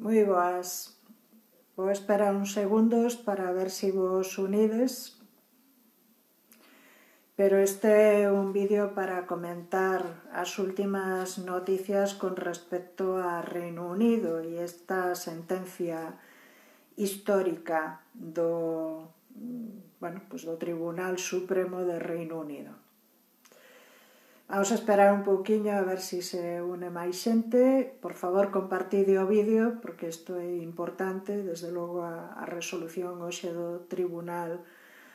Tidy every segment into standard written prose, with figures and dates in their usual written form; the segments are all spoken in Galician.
Moi boas. Vou esperar uns segundos para ver se vos unides. Pero este é un vídeo para comentar as últimas noticias con respecto a Reino Unido e esta sentencia histórica do Tribunal Supremo de Reino Unido. Vamos a esperar un pouquiño a ver se une máis xente. Por favor, compartide o vídeo, porque isto é importante. Desde logo, a resolución hoxe do Tribunal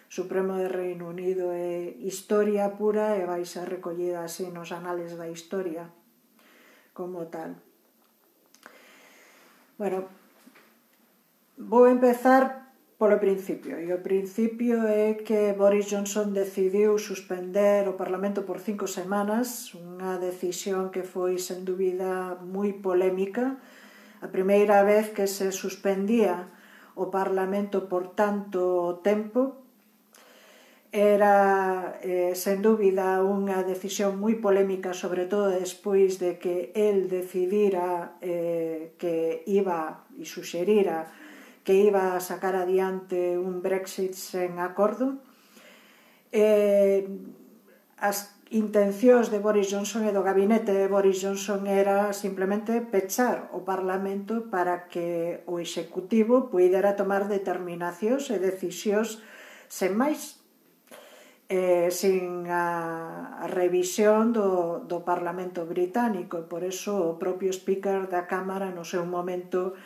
Supremo de Reino Unido é historia pura e vai ser recollida así nos anales da historia como tal. Bueno, vou empezar polo principio, e o principio é que Boris Johnson decidiu suspender o Parlamento por 5 semanas, unha decisión que foi, sen dúbida, moi polémica. A primeira vez que se suspendía o Parlamento por tanto tempo era, sen dúbida, unha decisión moi polémica, sobre todo despois de que el decidira que iba e suxerira que iba a sacar adiante un Brexit sen acordo. As intencións de Boris Johnson e do gabinete de Boris Johnson era simplemente pechar o Parlamento para que o Executivo puidera tomar determinacións e decisións sen máis, sin a revisión do Parlamento británico. Por eso o propio Speaker da Cámara no seu momento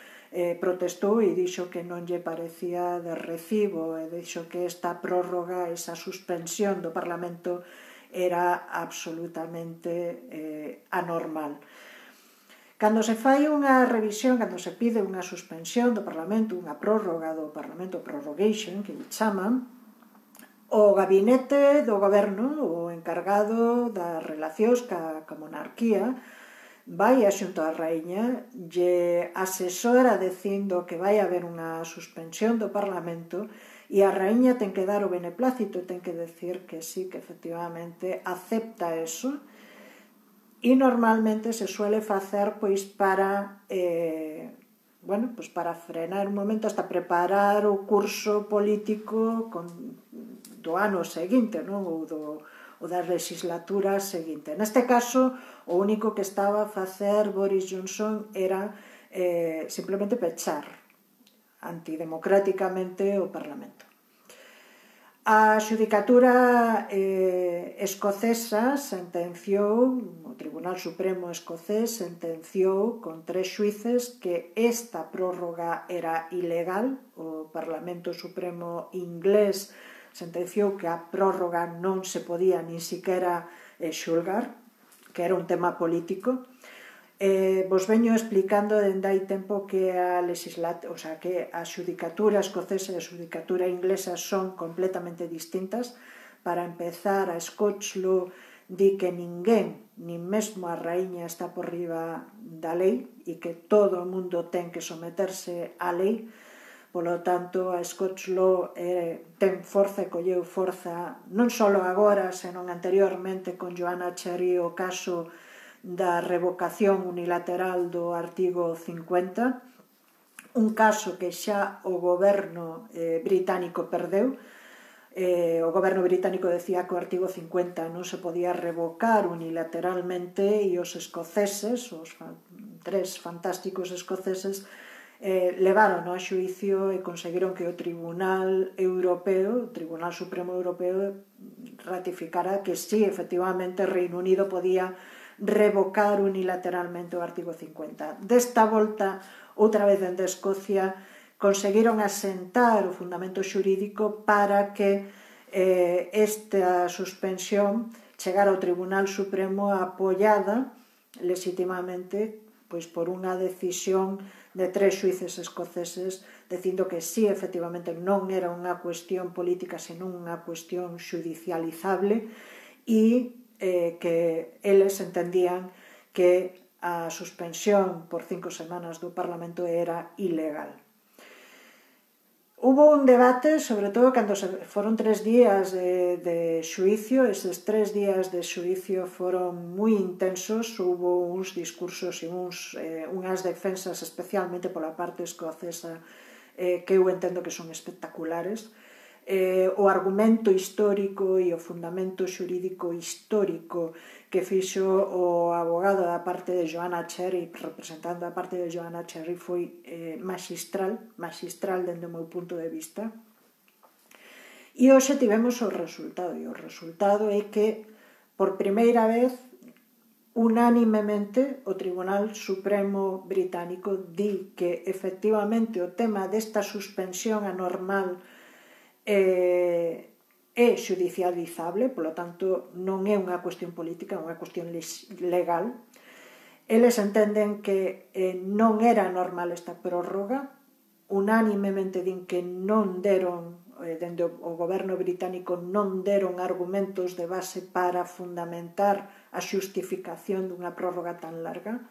protestou e dixo que non lle parecía de recibo, e dixo que esta prórroga, esa suspensión do Parlamento era absolutamente anormal. Cando se fai unha revisión, cando se pide unha suspensión do Parlamento, unha prórroga do Parlamento, prorrogation, que lle chaman, o gabinete do goberno, o encargado das relacións ca monarquía, vai a xunto a raíña, lle asesora dicindo que vai haber unha suspensión do Parlamento, e a raíña ten que dar o beneplácito, ten que decir que sí, que efectivamente acepta eso, e normalmente se suele facer para frenar un momento, hasta preparar o curso político do ano seguinte, non? ou da legislatura seguinte. Neste caso, o único que estaba a facer Boris Johnson era simplemente pechar antidemocráticamente o Parlamento. A xudicatura escocesa sentenciou, o Tribunal Supremo escocés sentenciou con 3 xuíces que esta prórroga era ilegal. O Parlamento Supremo inglés sentenciou que a prórroga non se podía nin siquiera xulgar, que era un tema político. Vos veño explicando dende hai tempo que a xudicatura escocesa e a xudicatura inglesa son completamente distintas. Para empezar, a Scotch Law di que ninguén, nin mesmo a raíña, está por riba da lei e que todo o mundo ten que someterse á lei. Polo tanto, a Scotch Law ten forza e colleu forza non só agora, senón anteriormente con Joanna Cherry, o caso da revocación unilateral do artigo 50, un caso que xa o goberno británico perdeu. O goberno británico decía que o artigo 50 non se podía revocar unilateralmente, e os escoceses, os 3 fantásticos escoceses, levaron a xuicio e conseguiron que o Tribunal Europeo, o Tribunal Supremo Europeo, ratificara que sí, efectivamente, Reino Unido podía revocar unilateralmente o artigo 50. Desta volta, outra vez dende Escocia, conseguiron asentar o fundamento xurídico para que esta suspensión chegara ao Tribunal Supremo apoiada legitimamente por unha decisión de 3 xuíces escoceses dicindo que sí, efectivamente, non era unha cuestión política, senón unha cuestión xudicializable, e que eles entendían que a suspensión por 5 semanas do Parlamento era ilegal. Hubo un debate, sobre todo cando foron 3 días de xuicio. Eses 3 días de xuicio foron moi intensos. Hubo uns discursos e unhas defensas, especialmente pola parte escocesa, que eu entendo que son espectaculares. O argumento histórico e o fundamento xurídico histórico que fixo o abogado da parte de Joanna Cherry, representando a parte de Joanna Cherry, foi magistral dende o meu punto de vista. E hoxe tivemos o resultado, e o resultado é que, por primeira vez, unánimemente, o Tribunal Supremo Británico di que, efectivamente, o tema desta suspensión anormal é xudicializable, polo tanto non é unha cuestión política, é unha cuestión legal. Eles entenden que non era normal esta prórroga, unánimemente din que non deron, dende o goberno británico non deron argumentos de base para fundamentar a xustificación dunha prórroga tan larga.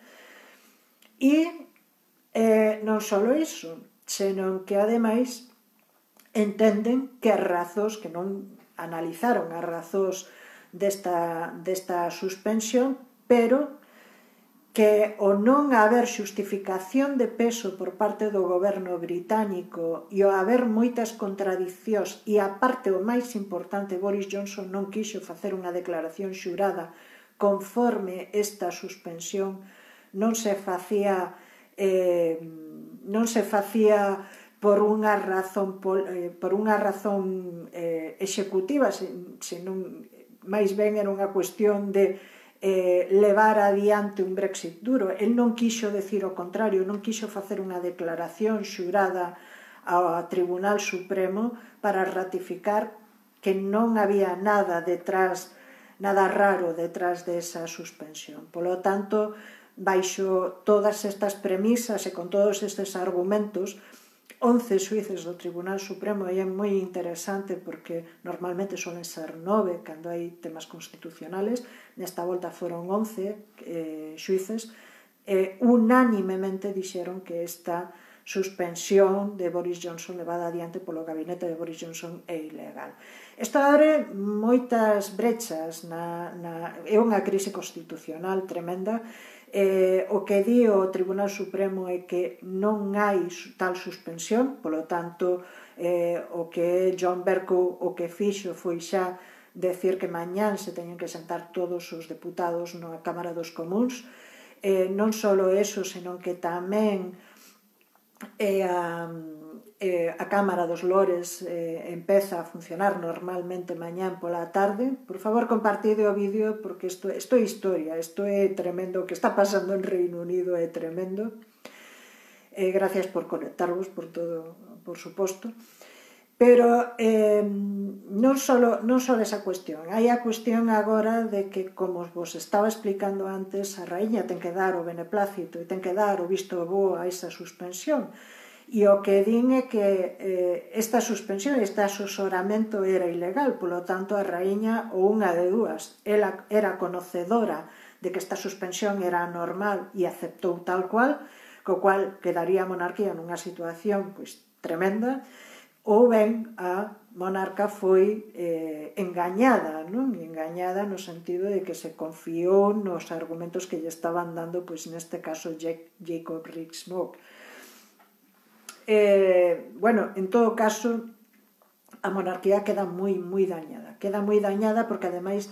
E non só iso, senón que ademais entenden que as razóns, que non analizaron as razóns desta suspensión, pero que o non haber xustificación de peso por parte do goberno británico e o haber moitas contradicións, e a parte o máis importante, Boris Johnson non quixo facer unha declaración xurada conforme esta suspensión non se facía por unha razón executiva, senón máis ben era unha cuestión de levar adiante un Brexit duro. El non quixo decir o contrario, non quixo facer unha declaración xurada ao Tribunal Supremo para ratificar que non había nada raro detrás desa suspensión. Polo tanto, baixo todas estas premisas e con todos estes argumentos, 11 xuíces do Tribunal Supremo, e é moi interesante porque normalmente solen ser 9 cando hai temas constitucionales. Nesta volta foron 11 xuíces, unánimemente dixeron que esta suspensión de Boris Johnson levada adiante polo gabinete de Boris Johnson é ilegal. Isto abre moitas brechas, é unha crise constitucional tremenda. O que di o Tribunal Supremo é que non hai tal suspensión, polo tanto, o que John Bercow o que fixo foi xa decir que mañán se teñen que sentar todos os deputados na Cámara dos Comuns. Non só eso, senón que tamén a Cámara dos Lores empeza a funcionar normalmente mañán pola tarde. Por favor, compartide o vídeo porque isto é historia, isto é tremendo. O que está pasando en Reino Unido é tremendo. Gracias por conectarvos, por todo, por suposto. Pero non só desa cuestión, hai a cuestión agora de que, como vos estaba explicando antes, a raíña ten que dar o beneplácito e ten que dar o visto bo a esa suspensión. E o que din é que esta suspensión, este asesoramento era ilegal, polo tanto a raíña, ou unha de dúas, ela era conocedora de que esta suspensión era anormal e aceptou tal cual, co cual quedaría a monarquía nunha situación tremenda, ou ben a monarca foi engañada, non? Engañada no sentido de que se confiou nos argumentos que lle estaban dando, neste caso, Jacob Rees-Mogg. En todo caso, a monarquía queda moi dañada porque ademais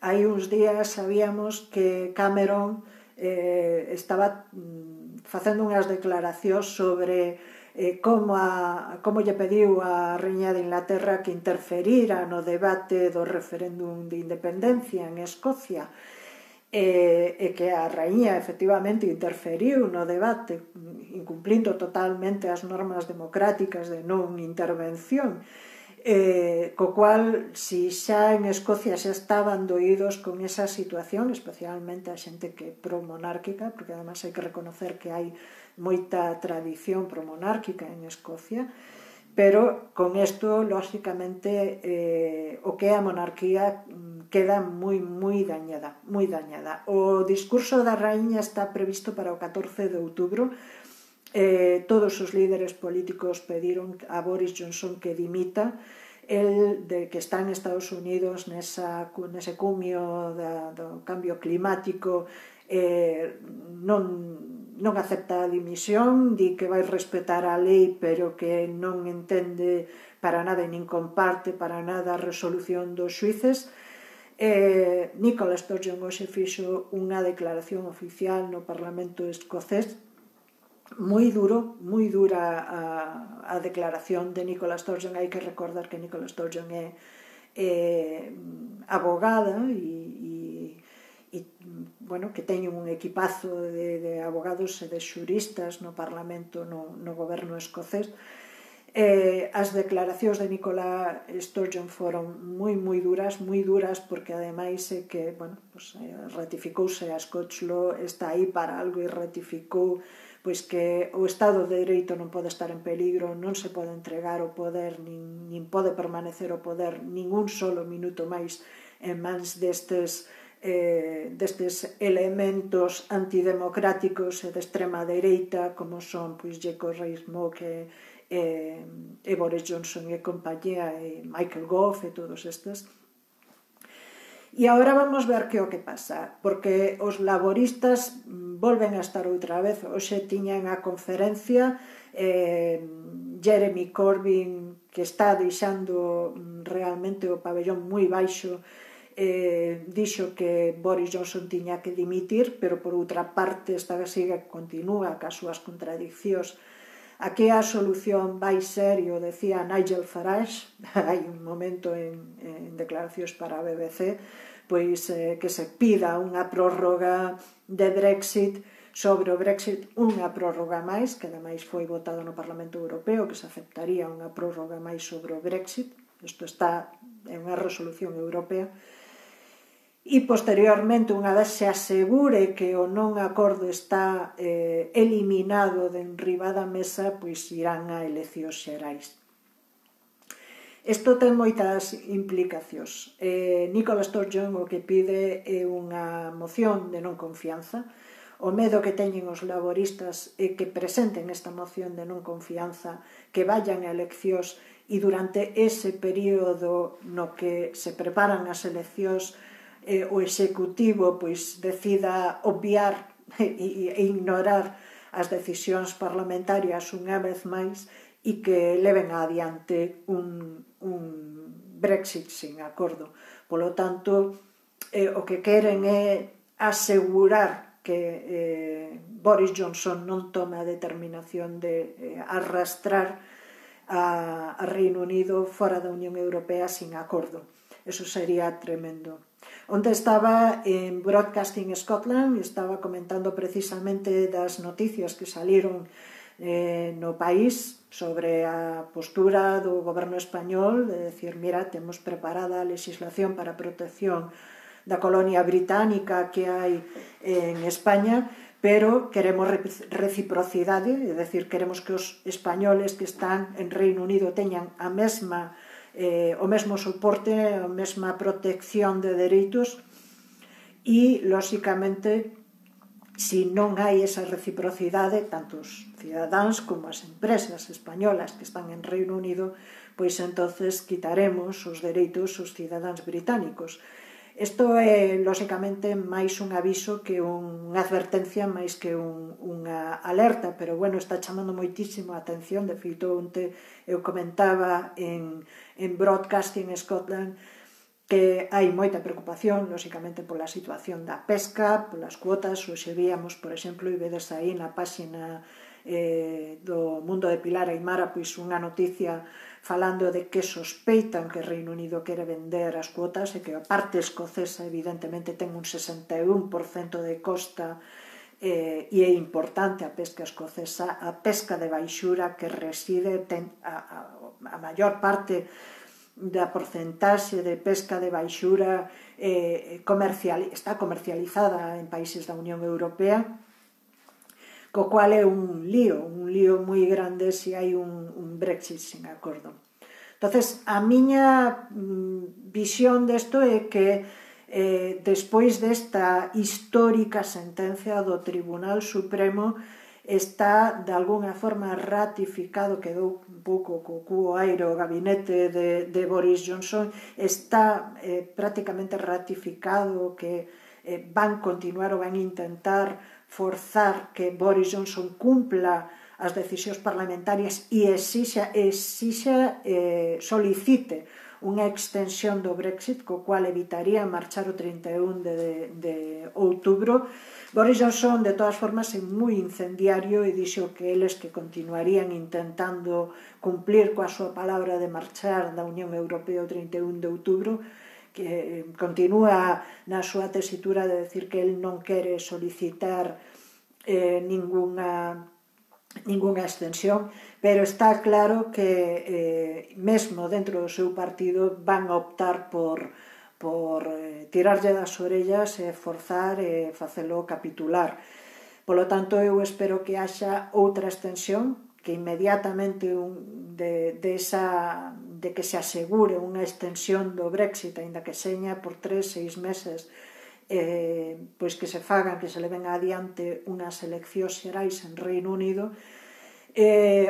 hai uns días sabíamos que Cameron estaba facendo unhas declaracións sobre como lle pediu a Raíña de Inglaterra que interferira no debate do referéndum de independencia en Escocia, e que a raíña efectivamente interferiu no debate, incumplindo totalmente as normas democráticas de non intervención, co cual, si xa en Escocia xa estaban doídos con esa situación, especialmente a xente que é pro-monárquica, porque además hai que reconocer que hai moita tradición promonárquica en Escocia, pero con isto, lógicamente, o que é a monarquía queda moi dañada. O discurso da raíña está previsto para o 14 de outubro. Todos os líderes políticos pediron a Boris Johnson que dimita. El que está en Estados Unidos nese cumio do cambio climático non acepta a dimisión, di que vai respetar a lei pero que non entende para nada e nin comparte para nada a resolución dos xuíces. Nicola Sturgeon hoxe fixo unha declaración oficial no Parlamento escocés moi dura a declaración de Nicola Sturgeon. Hai que recordar que Nicola Sturgeon é abogada e bueno, que teñen un equipazo de abogados e de xuristas no Parlamento, no goberno escocés. As declaracións de Nicola Sturgeon foron moi duras porque ademais que, bueno, pues, ratificouse a Scottish Law, está aí para algo e ratificou pois que o Estado de Dereito non pode estar en peligro, non se pode entregar o poder, nin pode permanecer o poder ningún solo minuto máis en mans destes elementos antidemocráticos e de extrema dereita como son pois Jacob Rees-Mogg e Boris Johnson e compañía e Michael Gove e todos estes. E agora vamos ver que o que pasa, porque os laboristas volven a estar outra vez. Hoxe tiñan a conferencia Jeremy Corbyn, que está deixando realmente o pabellón moi baixo, dixo que Boris Johnson tiña que dimitir, pero por outra parte continúa cas súas contradiccións. Aquí a solución vai ser, e o decía Nigel Farage, hai un momento en declaracións para a BBC, pois que se pida unha prórroga de Brexit, sobre o Brexit unha prórroga máis, que ademais foi votado no Parlamento Europeo, que se aceptaría unha prórroga máis sobre o Brexit. Isto está en unha resolución europea. E posteriormente, unha vez se asegure que o non acordo está eliminado de enriba da mesa, pois irán a eleccións xerais. Isto ten moitas implicacións. Nicola Sturgeon o que pide é unha moción de non confianza. O medo que teñen os laboristas é que presenten esta moción de non confianza, que vayan a eleccións e durante ese período no que se preparan as eleccións o executivo pois decida obviar e ignorar as decisións parlamentarias unha vez máis e que leven adiante un Brexit sin acordo. Polo tanto, o que queren é asegurar que Boris Johnson non tome a determinación de arrastrar a Reino Unido fora da Unión Europea sin acordo. Eso sería tremendo. Onde estaba en Broadcasting Scotland, estaba comentando precisamente das noticias que saliron no país sobre a postura do goberno español de decir, mira, temos preparada a legislación para a protección da colonia británica que hai en España, pero queremos reciprocidade, é dicir, queremos que os españoles que están en Reino Unido teñan a mesma o mesmo soporte, a mesma protección de dereitos e, lóxicamente, se non hai esa reciprocidade, tanto os cidadáns como as empresas españolas que están en Reino Unido, pois entonces quitaremos os dereitos aos cidadáns británicos. Isto é, lóxicamente, máis un aviso que unha advertencia, máis que unha alerta, pero, bueno, está chamando moitísimo a atención. De feito, onte eu comentaba en Broadcasting Scotland que hai moita preocupación, lóxicamente, pola situación da pesca, polas cuotas. Hoxe víamos, por exemplo, e vedes aí na páxina do Mundo de Pilar Aymara, pois unha noticia falando de que sospeitan que Reino Unido quere vender as cuotas e que a parte escocesa evidentemente ten un 61% de costa e é importante a pesca escocesa. A pesca de baixura que reside ten a maior parte da porcentaxe de pesca de baixura está comercializada en países da Unión Europea, co cual é un lío moi grande se hai un Brexit sin acordo. Entonces, a miña visión desto é que despois desta histórica sentencia do Tribunal Supremo está de alguna forma ratificado, quedou un pouco co cuo aire o gabinete de Boris Johnson, está prácticamente ratificado que van continuar ou van intentar forzar que Boris Johnson cumpla as decisións parlamentarias e solicite unha extensión do Brexit, co cual evitaría marchar o 31 de outubro. Boris Johnson, de todas formas, é moi incendiario e dixo que eles que continuarían intentando cumplir coa súa palabra de marchar da Unión Europea o 31 de outubro, que continúa na súa tesitura de decir que el non quere solicitar ningunha extensión, pero está claro que mesmo dentro do seu partido van a optar por tirarlle das orellas e forzar e facelo capitular. Polo tanto, eu espero que haxa outra extensión, que inmediatamente de que se asegure unha extensión do Brexit, aínda que seña por 3-6 meses, pois que se fagan, que se leven adiante unhas eleccións xerais en Reino Unido.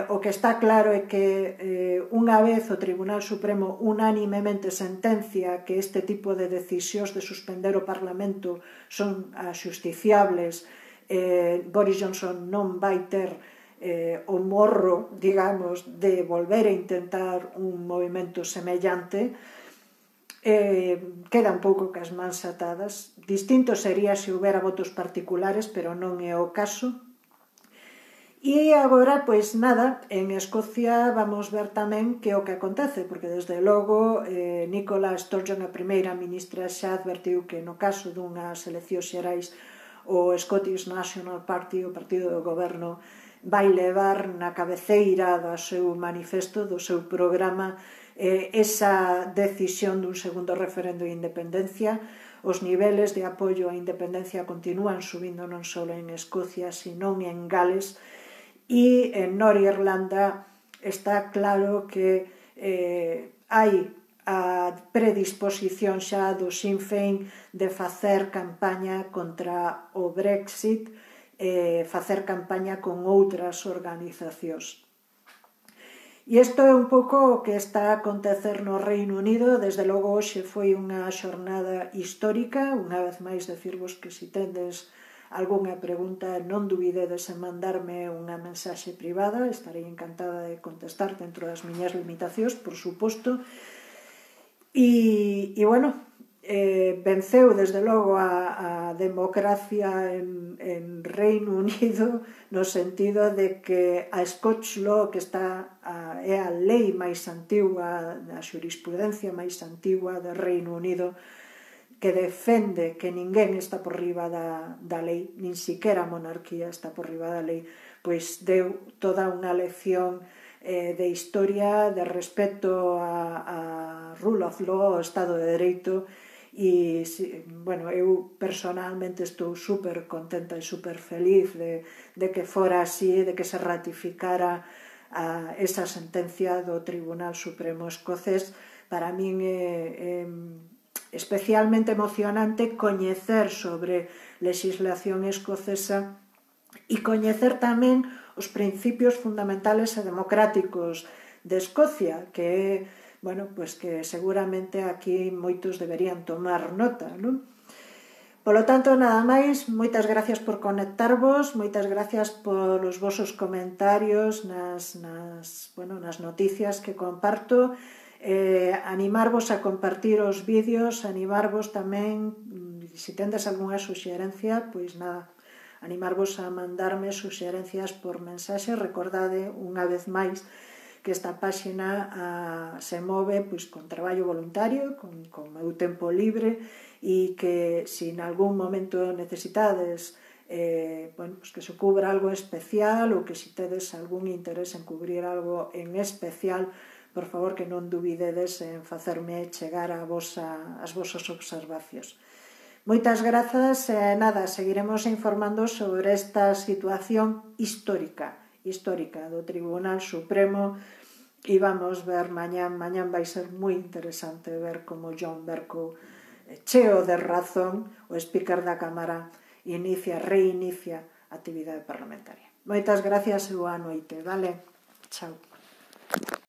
O que está claro é que unha vez o Tribunal Supremo unánimemente sentencia que este tipo de decisións de suspender o Parlamento son axusticiables, Boris Johnson non vai ter o morro, digamos, de volver a intentar un movimento semellante. Queda un pouco cas mans atadas. Distinto sería se houbera votos particulares, pero non é o caso. E agora, pois nada, en Escocia vamos ver tamén que o que acontece, porque desde logo Nicola Sturgeon, a primeira ministra, xa advertiu que no caso dunhas eleccións xerais o Scottish National Party, o partido do goberno, vai levar na cabeceira do seu manifesto, do seu programa, esa decisión dun segundo referendo de independencia. Os niveles de apoio á independencia continúan subindo non só en Escocia, sino en Gales, e en Norirlanda está claro que hai a predisposición xa do Sinn Féin de facer campaña contra o Brexit, facer campaña con outras organizacións. E isto é un pouco o que está a acontecer no Reino Unido. Desde logo hoxe foi unha xornada histórica. Unha vez máis decirvos que se tendes algunha pregunta non dubidedes en mandarme unha mensaxe privada, estarei encantada de contestar dentro das miñas limitacións, por suposto. E bueno, venceu desde logo a democracia en Reino Unido, no sentido de que a Scotch Law, que é a lei máis antigua, a xurisprudencia máis antigua do Reino Unido, que defende que ninguén está por riba da lei, nin siquiera a monarquía está por riba da lei, pois deu toda unha lección de historia, de respeto a rule of law, ao Estado de Dereito. E, bueno, eu personalmente estou super contenta e super feliz de que fora así, de que se ratificara esa sentencia do Tribunal Supremo escocés. Para min é especialmente emocionante coñecer sobre legislación escocesa e coñecer tamén os principios fundamentales e democráticos de Escocia, que bueno, pues que seguramente aquí moitos deberían tomar nota, non? Polo tanto, nada máis, moitas gracias por conectarvos, moitas gracias polos vosos comentarios nas noticias que comparto. Animarvos a compartir os vídeos, animarvos tamén, se tendes algunha suxerencia, pois nada, animarvos a mandarme suxerencias por mensaxe. Recordade unha vez máis que esta páxina se move pois con traballo voluntario, con meu tempo libre, e que se en algún momento necesitades pois que se cubra algo especial, ou que se tedes algún interés en cubrir algo en especial, por favor que non dubidedes en facerme chegar as vosas observacións. Moitas grazas e nada, seguiremos informando sobre esta situación histórica do Tribunal Supremo e vamos ver mañán vai ser moi interesante ver como John Bercow, cheo de razón, o speaker da Cámara, reinicia a actividade parlamentaria. Moitas gracias e boa noite, vale? Chao.